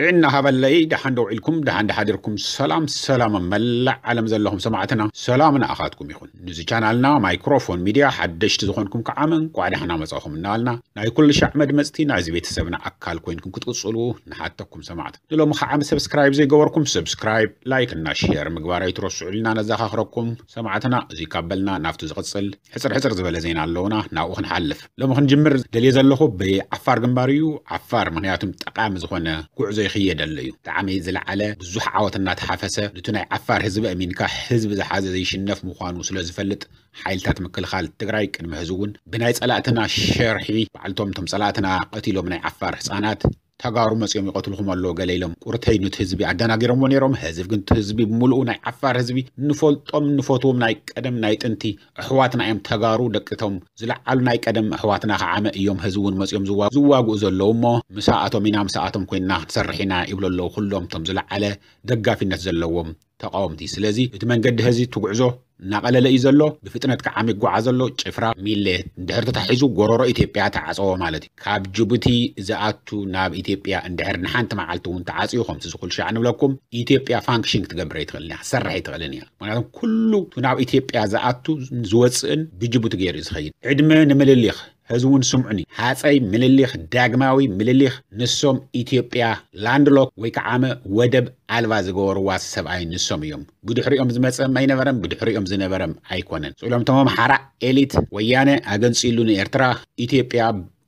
ጥዕና ሃበለይ፣ ደሓን ዶ ውዒልኩም፣ ደሓን ዶ ሓዲርኩም? ሰላም ሰላም፣ ኣብ መላእ ዓለም ዘለኹም ሰማዕትና፣ ሰላም ንኣኻትኩም ይኹን። ንዚ ቻናልና ማይክሮፎን ሚድያ ሓደሽቲ ዝኾንኩም ከዓ እንቋዕ ደሓና መጻኹም እናበልና፣ ናይ ኩሉ ሻዕ መድመጽቲ ናይዚ ቤተሰብና ኣካል ኮይንኩም ክትቅጽሉ ንሓተኩም ሰማዕት። ንሎሚ ከዓ ሰብስክራይብ ዘይገበርኩም ሰብስክራይብ፣ ላይክ እና ሼር ምግባር ኣይትረስዑ ኢልና ነዘኻኽረኩም ሰማዕትና። እዚ ካብ በልና ናብቲ ዝቕጽል ሕጽር ሕጽር ዝበለ ዜና ኣለውና፣ ናብኡ ክንሓልፍ። ሎሚ ክንጅምር ደልየ ዘለኹ ብዓፋር ግንባር እዩ። ዓፋር ምኽንያቱም ጠቓሚ ዝኾነ ጉዕዞ ይኽየደሉ እዩ። ብጣዕሚ ዝለዓለ ብዙሕ ዓወት እናተሓፈሰ፣ ንቱ ናይ ዓፋር ህዝቢ ኣሚንካ ህዝቢ ዝሓዘ ዘይሽነፍ ምዃኑ ስለ ዝፈልጥ፣ ሓይልታት ምክልኻል ትግራይ ቅድሚ ሕዚ እውን ብናይ ጸላእትና ሸርሒ፣ ባዕልቶም እቶም ጸላእትና ቀቲሎም ናይ ዓፋር ህፃናት ተጋሩ መፂኦም ይቐትልኹም ኣለዉ ገለ ኢሎም ቁርተይ ኑቲ ህዝቢ ኣደናጊሮምዎ ነይሮም። ህዝቢ ግን እቲ ህዝቢ ብምሉኡ ናይ ዓፋር ህዝቢ ንፈልጦም ንፈትዎም ናይ ቀደም ናይ ጥንቲ ኣሕዋትና እዮም። ተጋሩ ደቅቶም ዝለዓሉ ናይ ቀደም ኣሕዋትና ከዓመ እዮም። ህዝቢ እውን መፂኦም ዝዋ-፣ ዝዋግኡ ዘለዉ እሞ ምስኣቶም ኢና ምስኣቶም ኮይንና ክንሰርሕ ኢና ይብሉ ኣለዉ ኩሎም እቶም ዝለዓለ ደጋፊነት ዘለዎም ተቃወምቲ። ስለዚ እቲ መንገዲ ህዚ እቲ ጉዕዞ እናቐለለ እዩ ዘሎ። ብፍጥነት ከዓ ይጓዓዝ ዘሎ። ጭፍራ ሚሌ እንድሕር ተታሒዙ ጎረሮ ኢትዮጵያ ተዓፀወ ማለት እዩ። ካብ ጅቡቲ ዝኣቱ ናብ ኢትዮጵያ እንድሕር ንሓንቲ መዓልቲ እውን ተዓፅዩ፣ ከምቲ ዝኩል ሻዕ ንብለኩም፣ ኢትዮጵያ ፋንክሽን ክትገብር ኣይትኽእልን እያ፣ ክትሰርሕ ኣይትኽእልን እያ። ምክንያቱም ኩሉ እቲ ናብ ኢትዮጵያ ዝኣቱ ዝወፅእን ብጅቡቲ ገይሩ እዩ ዝኸይድ። ዕድመ ንምልሊኽ፣ ህዝቢ እውን ስምዑኒ። ሃፀይ ምልሊኽ፣ ዳግማዊ ምልሊኽ፣ ንሶም ኢትዮጵያ ላንድሎክ ወይ ከዓ ወደብ ኣልባ ዝገበርዋ ሰብኣይ ንሶም እዮም። ብድሕሪኦም ዝመፀም ኣይነበረም፣ ብድሕሪኦም ዝነበረም ኣይኮነን። ስኢሎም እቶም ኣምሓራ ኤሊት ወያነ ኣገንፂሉ ንኤርትራ ኢትዮጵያ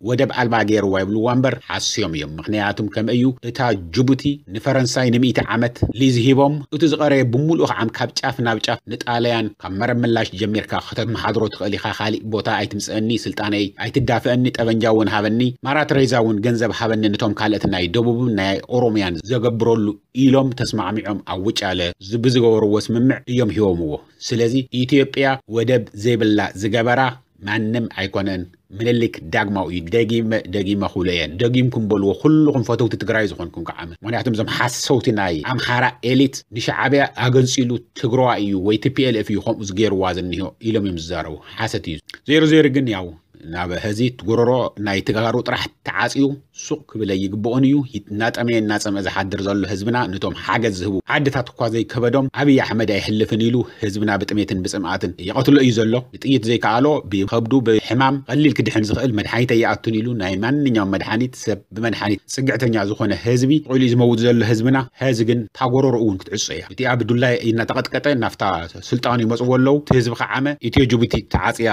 ወደብ ኣልባ ገይርዋ ይብልዋ እምበር ሓስዮም እዮም። ምኽንያቱም ከም እዩ እታ ጅቡቲ ንፈረንሳይ ንምእቲ ዓመት ሊዝ ሂቦም፣ እቲ ዝቐረየ ብምሉኡ ከዓ ካብ ጫፍ ናብ ጫፍ ንጣልያን ካብ መረብ ምላሽ ጀሚርካ ከተመሓድሮ ትኽእል ኢኻ። ካሊእ ቦታ ኣይትምፅአኒ፣ ስልጣነይ ኣይትዳፍአኒ፣ ጠበንጃ እውን ሃበኒ፣ ማራ ተሬዛ እውን ገንዘብ ሃበኒ፣ ነቶም ካልኦት ናይ ደቡብን ናይ ኦሮምያን ዘገብረሉ ኢሎም ተስማዕሚዖም ኣብ ውጫለ ዝ-፣ ብዝገበርዎ ስምምዕ እዮም ሂቦምዎ። ስለዚ ኢትዮጵያ ወደብ ዘይብላ ዝገበራ ማንም ኣይኮነን። ምልሊክ ዳግማዊ እዩ። ደጊመ ደጊመ ክብሎ እየ። ደጊምኩም በልዎ፣ ኩልኹም ፈተውቲ ትግራይ ዝኾንኩም ከዓ። ምክንያቱም እዞም ሓሰውቲ ናይ ኣምሓራ ኤሊት ንሻዕብያ ኣገንፂሉ ትግረዋይ እዩ ወይ ቲ ፒ ኤል ኤፍ እዩ ከምኡ ዝገይርዋ ዝኒሆ ኢሎም እዮም ዝዛረቡ። ሓሰት እዩ። ዜሮ ዜሮ ግን ያው ናብ ህዚ እቲ ጎረሮ ናይ ተጋሩ ጥራሕ ተዓፅዩ ሱቕ ክብል ኣይግብኦን እዩ። እናጠመየ እናፀምአ ዝሓድር ዘሎ ህዝብና፣ ነቶም ሓገዝ ዝህቡ ዓድታት እኳ ዘይከበዶም፣ ኣብይ ኣሕመድ ኣይሕልፍን ኢሉ ህዝብና ብጥሜትን ብፅምኣትን ይቐትሎ እዩ ዘሎ። ብጥይት ዘይከኣሎ ብከብዱ ብሕማም ቀሊል ክድሕን ዝኽእል መድሓኒት ኣይኣቱን ኢሉ ናይ ማንኛውም መድሓኒት ሰብ ብመድሓኒት ፅግዕተኛ ዝኾነ ህዝቢ ቁሉ እዩ ዝመውት ዘሎ ህዝብና። ህዚ ግን እታ ጎረሮ እውን ክትዕጾ እያ። እቲኣ ብዱላ እናተቐጥቀጠ ናብታ ስልጣኑ ይመፅዎ ኣለዉ። እቲ ህዝቢ ከዓመ ኢትዮ ጅቡቲ ተዓፅያ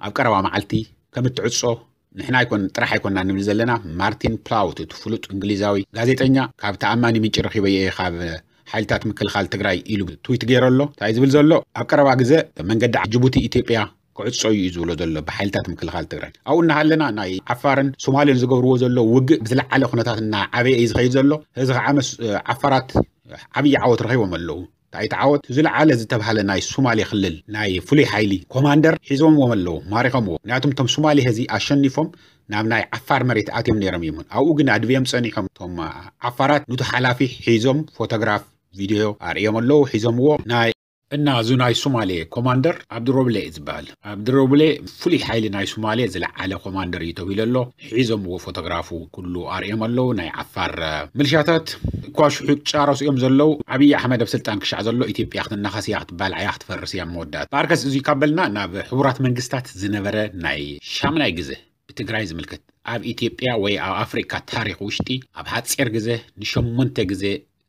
ኣብ ቀረባ መዓልቲ ከም እትዕጾ ንሕና ኣይኮን ጥራሕ ኣይኮንና ንብል ዘለና። ማርቲን ፕላውት እቲ ፍሉጥ እንግሊዛዊ ጋዜጠኛ ካብ ተኣማኒ ምንጪ ረኺበዮ እየ ካብ ሓይልታት ምክልኻል ትግራይ ኢሉ ትዊት ገይሩ ኣሎ። እንታይ ዝብል ዘሎ? ኣብ ቀረባ ግዜ መንገዲ ጅቡቲ ኢትዮጵያ ክዕጾ እዩ ዝብሎ ዘሎ ብሓይልታት ምክልኻል ትግራይ። ኣብኡ እናሃለና ናይ ዓፋርን ሶማሌን ዝገብርዎ ዘሎ ውግእ ብዝለዓለ ኩነታት እናዓበየ እዩ ዝኸይድ ዘሎ። እዚ ከዓ መስ-፣ ዓፋራት ዓብዪ ዓወት ረኺቦም ኣለዉ። እንታይ እቲ ዓወት? ዝለዓለ ዝተባህለ ናይ ሶማሌ ክልል ናይ ፍሉይ ሓይሊ ኮማንደር ሒዞምዎም ኣለዉ፣ ማሪኾምዎ። ምክንያቱም እቶም ሶማሌ ህዚ ኣሸኒፎም ናብ ናይ ዓፋር መሬት ኣትዮም ነይሮም እዮም። ኣብኡ ግን ኣድብዮም ጸኒሖም። እቶም ዓፋራት ኑቲ ሓላፊ ሒዞም ፎቶግራፍ፣ ቪድዮ ኣርእዮም ኣለዉ፣ ሒዞምዎ። ናይ እና እዚ ናይ ሶማሌ ኮማንደር ኣብድሮብሌ እዩ ዝበሃል። ኣብድሮብሌ ፍሉይ ሓይሊ ናይ ሶማሌ ዝለዓለ ኮማንደር እዩ ተባሂሉ ኣሎ። ሒዞምዎ ፎቶግራፉ ኩሉ ኣርእዮም ኣለዉ። ናይ ዓፋር፣ እ፣ ምልሻታት እኳ ሽሑ ጫረሱ እዮም ዘለዉ። ኣብይ ኣሕመድ ኣብ ስልጣን ክሻዕ ዘሎ ኢትዮጵያ ክትናኸስ እያ፣ ክትባልዕ እያ፣ ክትፈርስ እያ መወዳእታ። ብኣርከስ እዚ ካብ በልና ናብ ሕቡራት መንግስታት ዝነበረ ናይ ሻምናይ ግዜ ብትግራይ ዝምልከት ኣብ ኢትዮጵያ ወይ ኣብ ኣፍሪካ ታሪክ ውሽጢ ኣብ ሓፂር ግዜ ንሸሞንተ ግዜ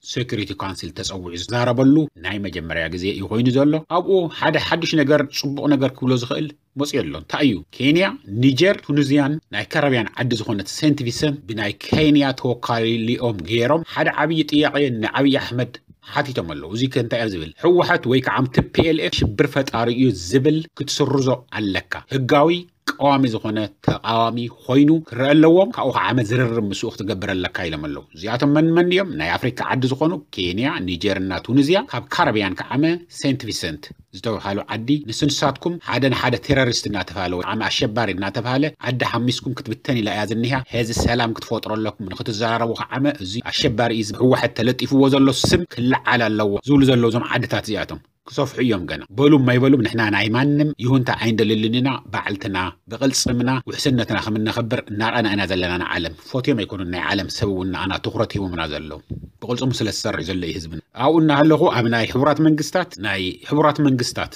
ሴኩሪቲ ካውንስል ተጸዊዑ ዝዛረበሉ ናይ መጀመርያ ግዜ እዩ ኮይኑ ዘሎ። ኣብኡ ሓደ ሓድሽ ነገር፣ ጽቡቕ ነገር ክብሎ ዝኽእል መጽኡ ኣሎ። እንታይ እዩ? ኬንያ፣ ኒጀር፣ ቱኒዝያን ናይ ካረብያን ዓዲ ዝኾነት ሴንት ቪንሰንት ብናይ ኬንያ ተወካሊኦም ገይሮም ሓደ ዓብዪ ጥያቄ ንዓብዪ ኣሕመድ ሓቲቶም ኣለዉ። እዚ ከ እንታይ እዩ ዝብል? ህወሓት ወይ ከዓ ቲ ፒ ኤል ኤፍ ሽብር ፈጣሪ እዩ ዝብል ክትስርዞ ኣለካ። ህጋዊ ቀዋሚ ዝኾነ ተቃዋሚ ኮይኑ ክረአ ኣለዎም። ካብኡ ከዓ መዝርርብ ምስኡ ክትገብር ኣለካ ኢሎም ኣለዉ። እዚኣቶም መን መን እዮም? ናይ ኣፍሪካ ዓዲ ዝኾኑ ኬንያ፣ ኒጀር እና ቱኒዝያ፣ ካብ ካረብያን ከዓመ ሴንት ቪንሰንት ዝተባሃሉ ዓዲ፣ ንስንሳትኩም ሓደ ንሓደ ቴሮሪስት እናተባሃለ ወይ ከዓ ኣሸባሪ እናተባሃለ ዓዲ ሓሚስኩም ክትብተን ኢላ እያ ዝኒሃ። ሕዚ ሰላም ክትፈጥሩ ኣለኩም። ንክትዘራረቡ ከዓመ እዚ ኣሸባሪ እዩ፣ ህወሓት ተለጢፍዎ ዘሎ ስም ክለዓል ኣለዎ ዝብሉ ዘለዉ እዞም ዓድታት እዚኣቶም። ክሰፍሑ እዮም ገና። በሉም ኣይበሉም ንሕና ናይ ማንም ይሁንታ ኣይንደልልን ኢና። ባዕልትና ብቕልጽምና ውሕስነትና ከም እነኸብር እናረኣና ኢና ዘለና። ንዓለም ፈትዮም ኣይኮኑን፣ ናይ ዓለም ሰብ እውን ንኣና ትኹረት ሂቦምና ዘለዉ። ብቕልጽሙ ስለ ዝሰርሕ ዘሎ እዩ ህዝብና። ኣብኡ እናሃለኹ ኣብ ናይ ሕቡራት መንግስታት ናይ ሕቡራት መንግስታት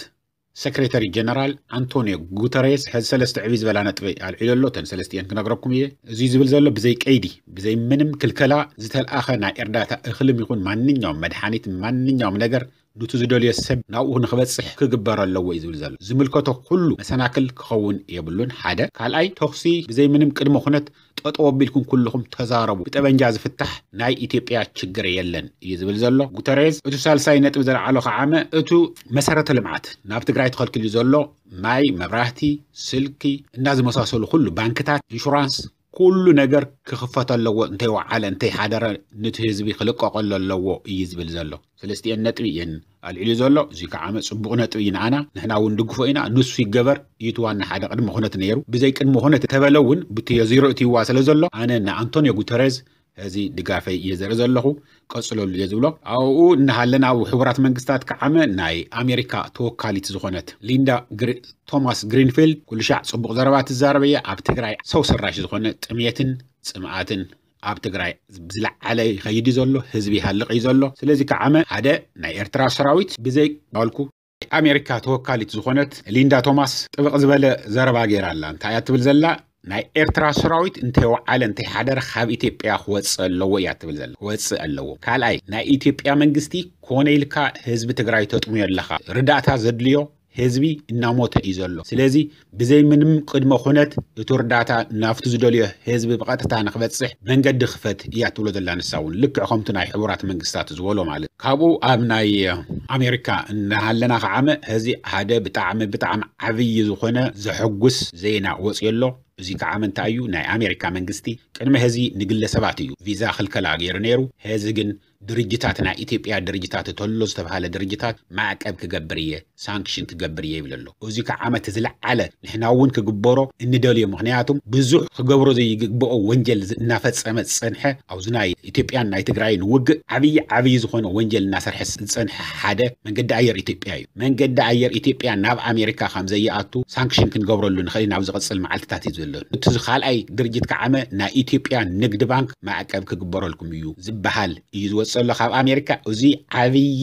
ሰክሬታሪ ጀነራል ኣንቶኒዮ ጉተሬስ ሕዚ ሰለስተ ዕብይ ዝበላ ነጥቢ ኣልዒሉ ኣሎ። እተን ሰለስቲኤን ክነግረኩም እየ። እዚ ዝብል ዘሎ ብዘይ ቀይዲ ብዘይ ምንም ክልከላ ዝተልኣኸ ናይ እርዳታ እኽልም ይኹን ማንኛውም መድሓኒት ማንኛውም ነገር ኑቲ ዝደልዮ ሰብ ናብኡ ንክበፅሕ ክግበር ኣለዎ እዩ ዝብል ዘሎ። ዝምልከቶ ኩሉ መሰናክል ክኸውን የብሉን። ሓደ ካልኣይ ተኹሲ ብዘይ ምንም ቅድመ ኩነት ጠጠው ኣቢልኩም ኩልኹም ተዛረቡ። ብጠበንጃ ዝፍታሕ ናይ ኢትዮጵያ ችግር የለን እዩ ዝብል ዘሎ ጉተሬዝ። እቱ ሳልሳይ ነጥቢ ዘልዓሎ ከዓመ እቱ መሰረተ ልምዓት ናብ ትግራይ ተኸልኪሉ ዘሎ ማይ፣ መብራህቲ፣ ስልኪ እና ዝመሳሰሉ ኩሉ ባንክታት፣ ኢንሹራንስ ኩሉ ነገር ክኽፈት ኣለዎ። እንተይወዓለ እንተይሓደረ ንቲ ህዝቢ ክልቀቀሉ ኣለዎ እዩ ዝብል ዘሎ። ሰለስቲኤን ነጥቢ እየን ኣልዒሉ ዘሎ። እዚ ከዓ ጽቡቕ ነጥቢ እዩ ንኣና፣ ንሕና እውን ድግፎ ኢና። ንሱ ይገበር እዩ እቲ ዋና ሓደ ቅድመ ኩነት ነይሩ። ብዘይ ቅድመ ኩነት ተበለ እውን ብትዮ ዚሮ እትይዋ ስለ ዘሎ ኣነ ንኣንቶኒዮ ጉተረዝ እዚ ድጋፈይ እየ ዘርኢ ዘለኹ። ቀጽለሉ እየ ዝብሎ። ኣብኡ እናሃለና ኣብ ሕቡራት መንግስታት ከዓመ ናይ ኣሜሪካ ተወካሊት ዝኾነት ሊንዳ ቶማስ ግሪንፊልድ ኩሉ ሻዕ ጽቡቕ ዘረባ ትዛረብ እያ። ኣብ ትግራይ ሰው ሰራሽ ዝኾነ ጥሜትን ጽምኣትን ኣብ ትግራይ ብዝለዓለ ይኸይድ እዩ ዘሎ። ህዝቢ ይሃልቕ እዩ ዘሎ። ስለዚ ከዓመ ሓደ ናይ ኤርትራ ሰራዊት ብዘይ ባልኩ ኣሜሪካ ተወካሊት ዝኾነት ሊንዳ ቶማስ ጥብቕ ዝበለ ዘረባ ገይራ ኣላ። እንታይ እያ ትብል ዘላ? ናይ ኤርትራ ሰራዊት እንተይወዓለ እንተይሓደረ ካብ ኢትዮጵያ ክወፅእ ኣለዎ እያ ትብል ዘላ። ክወፅእ ኣለዎ። ካልኣይ ናይ ኢትዮጵያ መንግስቲ ኮነ ኢልካ ህዝቢ ትግራይ ተጥምዮ ኣለኻ። ርዳእታ ዘድልዮ ህዝቢ እናሞተ እዩ ዘሎ። ስለዚ ብዘይ ምንም ቅድመ ኩነት እቲ ርዳእታ ናብቲ ዝደልዮ ህዝቢ ብቐጥታ ንክበፅሕ መንገዲ ክፈት እያ ትብሎ ዘላ። ንሳ እውን ልክዕ ከምቲ ናይ ሕቡራት መንግስታት ዝበሎ ማለት ካብኡ ኣብ ናይ ኣሜሪካ እናሃለና ከዓመ ህዚ ሓደ ብጣዕሚ ብጣዕሚ ዓብዪ ዝኾነ ዘሐጉስ ዜና ወፅዮ ኣሎ። እዚ ከዓ ምንታይ እዩ? ናይ ኣሜሪካ መንግስቲ ቅድሚ ሕዚ ንግለሰባት እዩ ቪዛ ክልከላ ገይሩ ነይሩ። ሕዚ ግን ድርጅታት ናይ ኢትዮጵያ ድርጅታት ተሎ ዝተባሃለ ድርጅታት ማዕቀብ ክገብር እየ፣ ሳንክሽን ክገብር እየ ይብል ኣሎ። እዚ ከዓ ዓመት ዝለዓለ ንሕና እውን ክግበሮ እንደልዮ። ምክንያቱም ብዙሕ ክገብሮ ዘይግብኦ ወንጀል እናፈፀመ ዝፀንሐ ኣብዚ ናይ ኢትዮጵያን ናይ ትግራይን ውግእ ዓብዪ ዓብዪ ዝኾነ ወንጀል እናሰርሐ ዝፀንሐ ሓደ መንገዲ ኣየር ኢትዮጵያ እዩ። መንገዲ ኣየር ኢትዮጵያ ናብ ኣሜሪካ ከም ዘይኣቱ ሳንክሽን ክንገብረሉ ንኽእል ናብ ዝቕፅል መዓልትታት እዩ ዘሎ። እቲ ካልኣይ ድርጅት ከዓመ ናይ ኢትዮጵያ ንግድ ባንክ ማዕቀብ ክግበረልኩም እዩ ዝበሃል እዩ ዝወፅእ ዘሎ ካብ ኣሜሪካ። እዚ ዓብዪ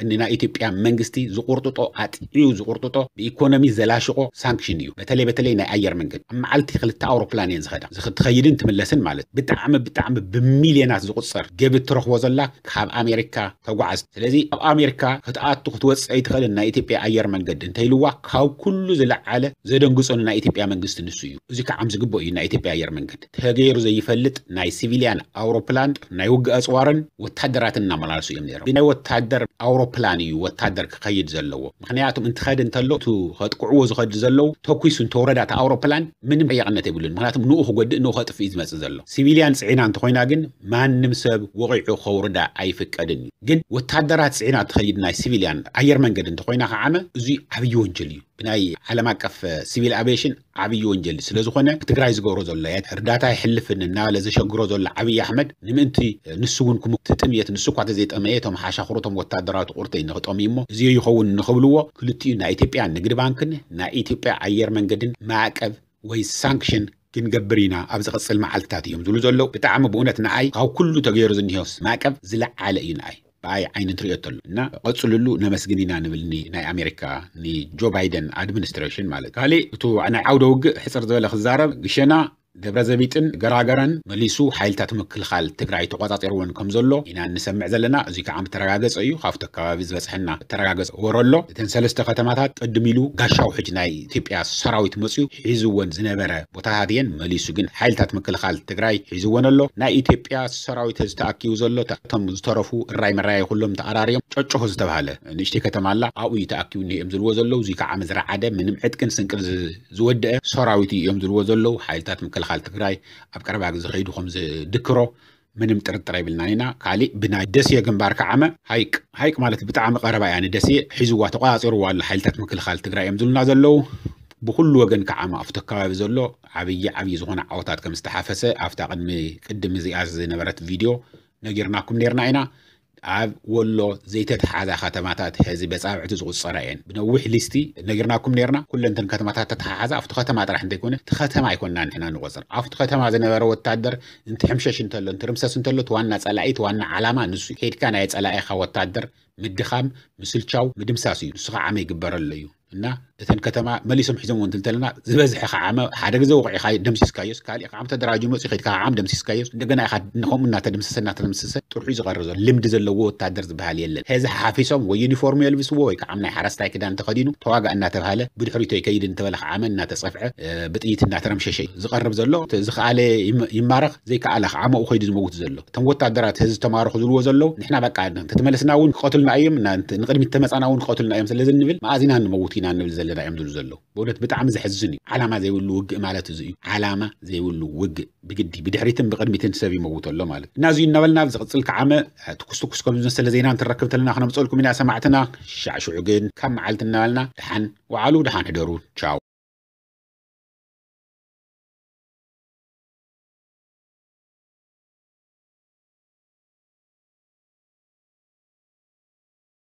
ንናይ ኢትዮጵያ መንግስቲ ዝቁርጥጦ ኣጥዕዩ ዝቁርጥጦ ብኢኮኖሚ ዘላሽቆ ሳንክሽን እዩ። በተለይ በተለይ ናይ ኣየር መንገድ ኣብ መዓልቲ ክልተ ኣውሮፕላን እየን ዝኸዳ ትኸይድን ትምለስን ማለት ብጣዕሚ ብጣዕሚ ብሚልዮናት ዝቁፀር ገቢ እትረኽቦ ዘላ ካብ ኣሜሪካ ተጓዓዝ። ስለዚ ኣብ ኣሜሪካ ክትኣቱ ክትወፅእ ኣይትኽእልን ናይ ኢትዮጵያ ኣየር መንገድ እንተይልዋ ካብ ኩሉ ዝለዓለ ዘደንግፆ ንናይ ኢትዮጵያ መንግስቲ ንሱ እዩ። እዚ ከዓ ዝግብኦ እዩ። ናይ ኢትዮጵያ ኣየር መንገድ ተገይሩ ዘይፈልጥ ናይ ሲቪልያን ኣውሮፕላን ናይ ውግእ ኣፅዋርን ወታደራትን እናመላለሱ እዮም ነይሮም። ናይ ወታደር ኣውሮፕላን እዩ ወታደር ክኸይድ ዘለዎ። ምክንያቱም እንትኸድ እንተሎ እቲ ከጥቅዕዎ ዝኸዱ ዘለዉ ተኩሱ እንተወረዳ እቲ ኣውሮፕላን ምንም ጠያቕነት የብሉን። ምክንያቱም ንኡ ክጎድእ ንኡ ከጥፍእ እዩ ዝመፅእ ዘሎ። ሲቪልያን ፅዒና እንተኮይና ግን ማንም ሰብ ወቂዑ ከውርዳ ኣይፍቀድን እዩ። ግን ወታደራት ፅዒና ትኸይድ ናይ ሲቪልያን ኣየር መንገድ እንተኮይና ከዓመ እዚ ዓብዪ ወንጀል እዩ። ብናይ ዓለም ኣቀፍ ሲቪል ኣቪዬሽን ዓብዪ ወንጀል ስለ ዝኾነ ትግራይ ዝገብሮ ዘሎ እርዳታ ይሕልፍን እናበለ ዘሸግሮ ዘሎ ዓብዪ ኣሕመድ ንምእንቲ ንሱ እውን ክሙ ትጥምየት ንሱ እኳ ተዘይጠመየ እቶም ሓሻኽሩ እቶም ወታደራዊ ቁርተይ ንክጠምዩ እሞ እዚ ይኸውን ንክብልዎ ክልቲኡ ናይ ኢትዮጵያ ንግድ ባንክን ናይ ኢትዮጵያ ኣየር መንገድን ማዕቀብ ወይ ሳንክሽን ክንገብር ኢና ኣብ ዝቐፅል መዓልትታት እዮም ዝብሉ ዘለዉ። ብጣዕሚ ብእውነት ንዓይ ካብ ኩሉ ተገይሩ ዝኒሆስ ማዕቀብ ዝለዓለ እዩ ንዓይ ብኣይ ዓይኒ እንትሪኦ ተሎ እና ቀፅልሉ ነመስግን ኢና ንብል ኒ- ናይ ኣሜሪካ ንጆ ባይደን ኣድሚኒስትሬሽን ማለት። ካሊእ እቱ ናይ ዓውደ ውግእ ሕፅር ዝበለ ክዛረብ ግሸና ደብረ ዘቢጥን ገራገረን መሊሱ ሓይልታት ምክልኻል ትግራይ ተቆፃፂርዎን ከም ዘሎ ኢና እንሰምዕ ዘለና። እዚ ከዓ ተረጋገፀ እዩ። ካብቲ ከባቢ ዝበፅሐና ተረጋገፀ ወረ ኣሎ። እተን ሰለስተ ከተማታት ቅድም ኢሉ ጋሻው ሕጅ ናይ ኢትዮጵያ ሰራዊት መፅዩ ሒዝወን ዝነበረ ቦታታት እየን። መሊሱ ግን ሓይልታት ምክልኻል ትግራይ ሒዝወን ኣሎ። ናይ ኢትዮጵያ ሰራዊት ዝተኣኪቡ ዘሎ እቶም ዝተረፉ እራይ መራይ ኩሎም ተኣራርዮም ጨጨሆ ዝተባሃለ ንእሽተይ ከተማ ኣላ ኣብኡ እዩ ተኣኪቡ እኒኦም ዝልዎ ዘለዉ። እዚ ከዓ ምዝረዓደ ምንም ዕጥቅን ስንቅን ዝ- ዝወደአ ሰራዊት እዮም ዝልዎ ዘለዉ። ሓይልታት ምክልኻል ትግራይ ኣብ ቀረባ ግዜ ከይዱ ከም ዝድክሮ ምንም ጥርጥር የብልናን ኢና። ካሊእ ብናይ ደሴ ግንባር ከዓመ ሃይቅ ሃይቅ ማለት ብጣዕሚ ቀረባ እያ ንደሴ ሒዝዋ ተቆፃፂርዋ ኣሎ ሓይልታት ምክልኻል ትግራይ እዮም ዝብሉና ዘለዉ። ብኩሉ ወገን ከዓመ ኣብቲ ከባቢ ዘሎ ዓብዪ ዓብዪ ዝኾነ ዓወታት ከም ዝተሓፈሰ ኣብታ ቅድሚ ቅድሚ እዚኣ ዝነበረት ቪድዮ ነጊርናኩም ነርና ኢና። ኣብ ወሎ ዘይተተሓዛ ከተማታት ሕዚ በጻብዕቲ ዝቑጸራ እየን። ብነዊሕ ሊስቲ ነጊርናኩም ነርና። ኩለንተን ከተማታት ተተሓሓዛ ኣብቲ ከተማ ጥራሕ እንተይኮነ እቲ ከተማ ኣይኮንና ንሕና ንቆጽር። ኣብቲ ከተማ ዝነበረ ወታደር እንትሕምሸሽ እንተሎ እንትርምሰስ እንተሎ እቲ ዋና ጸላኢ እቲ ዋና ዓላማ ንሱ እዩ። ከይድካ ናይ ጸላኢኻ ወታደር ምድኻም፣ ምስልቻው፣ ምድምሳስ እዩ። ንሱ ከዓ ዓመ ይግበረሉ እዩ። እና እተን ከተማ መሊሶም ሒዞም እውን እንተለና ዝበዝሐ ከዓ ዓመ ሓደ ግዜ ወቂዕካ ደምሲስካዮስ ካሊእ ከዓ ዓመ ተደራጅ መፅኡ ከይድካ ከዓ ዓመ ደምሲስካዮስ እንደገና ኢኻ ንኸምኡ እናተደምሰሰ እናተደምሰሰ ጥርሑ እዩ ዝቐርብ ዘሎ። ልምዲ ዘለዎ ወታደር ዝበሃል የለን። ሕዚ ሓፊሶም ወይ ዩኒፎርም የልብስዎ ወይ ከዓ ናይ ሓረስታይ ክዳን ተኸዲኑ ተዋጋእ እናተባሃለ ብድሕሪቶ ይከይድ እንተበለ ከዓ ዓመ እናተፀፍዐ ብጥይት እናተረምሸሸ እዩ ዝቐርብ ዘሎ። ዝኸኣለ ይማረኽ ዘይከኣለ ከዓ ዓመኡ ከይዱ ዝመውት ዘሎ። እቶም ወታደራት ሕዚ ዝተማረኹ ዝብልዎ ዘለዉ ንሕና በቃ ተተመለስና እውን ክቐትሉና እዮም፣ ንቅድሚት ተመፃና እውን ክቐትሉና እዮም ስለዚ ንብል መኣዚና ንመውት ኢና ንብል ዘለና እዮም ዝብሉ ዘለዉ። ብእውነት ብጣዕሚ ዘሕዝን እዩ። ዓላማ ዘይብሉ ውግእ ማለት እዚ እዩ። ዓላማ ዘይብሉ ውግእ ብግዲ ብድሕሪትን ብቅድሚትን ሰብ ይመውት ኣሎ ማለት እና እዚዩ እናበልና ኣብ ዝቕፅል ከዓመ ትኩስ ትኩስ ከም ዝመሰለ ዜና እንትረክብ ተለና ክነምፀልኩም ኢና ሰማዕትና። ሻዕሽዑ ግን ካብ መዓልቲ እናበልና ደሓን ወዓሉ ደሓን ሕደሩ። ቻው።